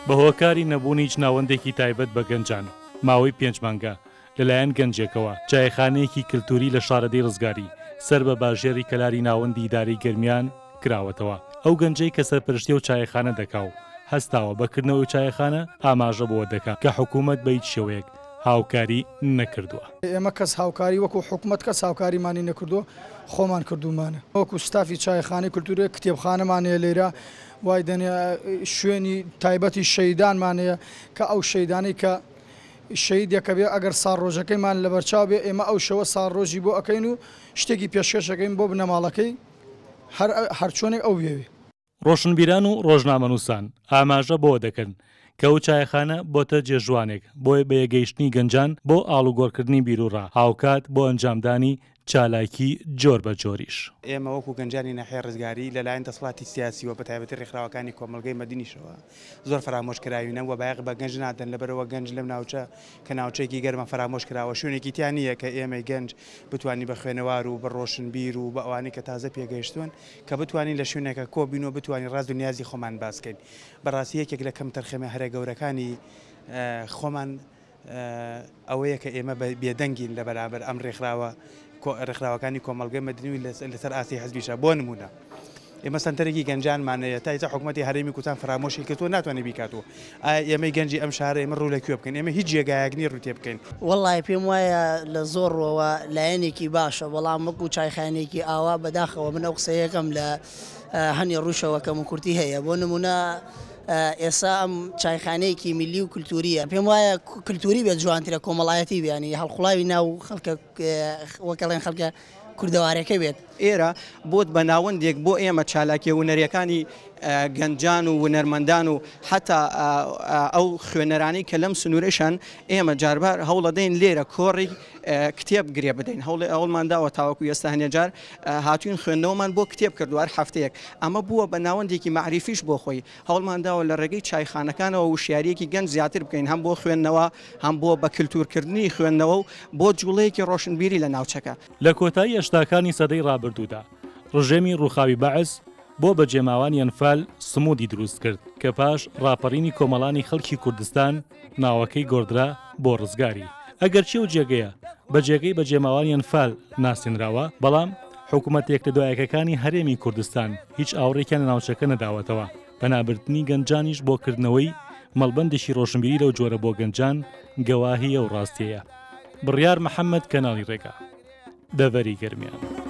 بە هۆکاری نەبوونی هیچ ناوەندێکی تایبەت بە گەنجان، ماوەی پێنج مانگە لەلایەن گەنجێکەوە چایخانەیەکی کلتوری لە شارەدێی ڕزگاری سەر بە باژێڕی کەلاری ناوەندی ئیدارەی گەرمیان کراوەتەوە. ئەو گەنجەی کە سەرپەرشتی ئەو چایخانە دەکا و هەستاوە بە کردنەوەی چایخانە ئاماژە بەوە دەکا کە حکوومەت بە هیچ شێوەیەک هاوکاری نەکردووە. ئێمە کەس هاوکاری وەکو حکومەت کەس هاوکاریمانی نەکردووە خۆمان کردوومانە وەکو ستافی چایخانەی کولتوری کتێبخانەمان هەیە لێرە وای دەنێ شوێنی تایبەتی شەهیدانمان هەیە کە ئەو شەهیدانەی کە شەهیدێکە بێ ئەگەر ساڵڕۆژەکەیمان لەبەرچاو بێ ئێمە ئەو شەوە ساڵڕۆژی بۆ ئەکەین و شتێکی پێشکەش ئەکەین بۆ بنەماڵەکەی هەر هەرچۆنێک ئەو بیەوێ. ڕۆشنبیران و ڕۆژنامەنووسان ئاماژە بەوە دەکەن کە ئەو چایەخانە بۆتە جێژوانێک بۆ بەیەکگەیشتنی گەنجان بۆ ئاڵوگۆڕکردنی بیروڕا، هاوکات بۆ ئەنجامدانی چالاکی جۆر بە جۆریش. ئێمە وەکو گەنجانی ناحیەی ڕزگاری لەلایەن دەسەڵاتی سیاسیوە بەتایبەتی ڕێکخراوەکانی کۆمەڵگەی مەدنیشەوە زۆر فەرامۆش کراوینە و بایەخ بە گەنج نادەن لەبەرئەوە گەنج لەم ناوچە کە ناوچەیەکی گەرمە فەرامۆش کراوە شوێنێکی تیا نییە کە ئێمەی گەنج بتوانین بە خوێنەوار و بە ڕۆشنبیر و بە ئەوانەی کە تازە پێگەیشتوون کە بتوانین لە شوێنێکا کۆ بین و بتوانین ڕاز و نیازی خۆمان باس کەین بەڕاستی یەکێک لە کەمتەرخەمیە هەرە گەورەکانی خۆمان ئەوەیە کە ئێمە بێدەنگین لە بەرامبەر ئەم ڕێکخراوە ڕێکخراوەکانی کۆمەڵگەی مەدنی و لەسەر ئاستی حزبیشە بۆ نمونە ئێمە سەنتەرێکی گەنجانمان هەیە تا ئێستا حکوومەتی هەرێمی کوردستان فەرامۆشی کردووە ناتوانێت بیکات و ئایا ئێمەی گەنجی ئەم شارە ئێمە ڕوو لە کوێ بکەین ئێمە هیچ جێگایەک نییە ڕوو تێ بکەین. وەڵای پێم وایە لە زۆر ڕوەوە لایەنێکی باشە بەڵام وەکو چایخانەیەکی ئاوا بەداخەوە من ئەو قسەیەکەم لە هەنێ ڕووشەوە کەموکورتی هەیە بۆ نمونە ئێسا ئەم چایخانەیەکی میللی و کلتوریە پێم وایە کلتوری بێت جوانترە کۆمەڵایەتی بێ ینی هەڵقوڵاوی ناو خەڵکە وەکەڵێن خەڵکە کوردەوارەکە بێت. ئێرە بۆت بە ناوەندێک بۆ ئێمە چالاکیە ونەریەکانی گەنجان و ونەرمەندان و حەتا ئەو خوێنەرانەی کە لەم سنوورەشن ئێمە جاربار هەوڵەدەین لێرە کۆڕی کتێب گرێ بدەین هەوڵێ ئەوڵمان داوە تاوەکو ئێستا هەنێ جار هاتوین خوێندنەوەمان بۆ کتێب کردووە هەر هەفتەیەک ئەمە بووە بە ناوەندێکی مەعریفیش بۆ خۆی هەوڵمان داوە لە ڕێگەی چایخانەکانەوە وشیارییەکی گەنج زیاتر بکەین هەم بۆ خوێندنەوە هەم بۆ بە کلتورکردنی خوێندنەوە و بۆ جوڵەیەکی ڕۆشنبیری لە ناوچەکە. لە کۆتایی هەشتاکانی سەدەی ڕابردوودا ڕژێمی ڕووخاوی بەعس بۆ بەجێماوانی ئەنفال سمودی دروست کرد کە پاش ڕاپەڕینی کۆمەڵانی خەڵکی کوردستان ناوەکەی گۆڕدرا بۆ ڕزگاری. ئەگەرچی ئەو جێگەیە بە جێگەی بەجێماوانی ئەنفال ناسێنراوە، بەڵام حکومەتە یەکلەدوایەکەکانی هەرێمی کوردستان هیچ ئاوڕێکیان لە ناوچەکە نەداوەتەوە، پەنابردنی گەنجانیش بۆ کردنەوەی مەڵبەندێکی ڕۆشنبیری لەو جۆرە بۆ گەنجان گەواهی ئەو ڕاستیەیە. بڕیار محەمەد کەناڵی ڕێگا. دەڤەری گەرمیان.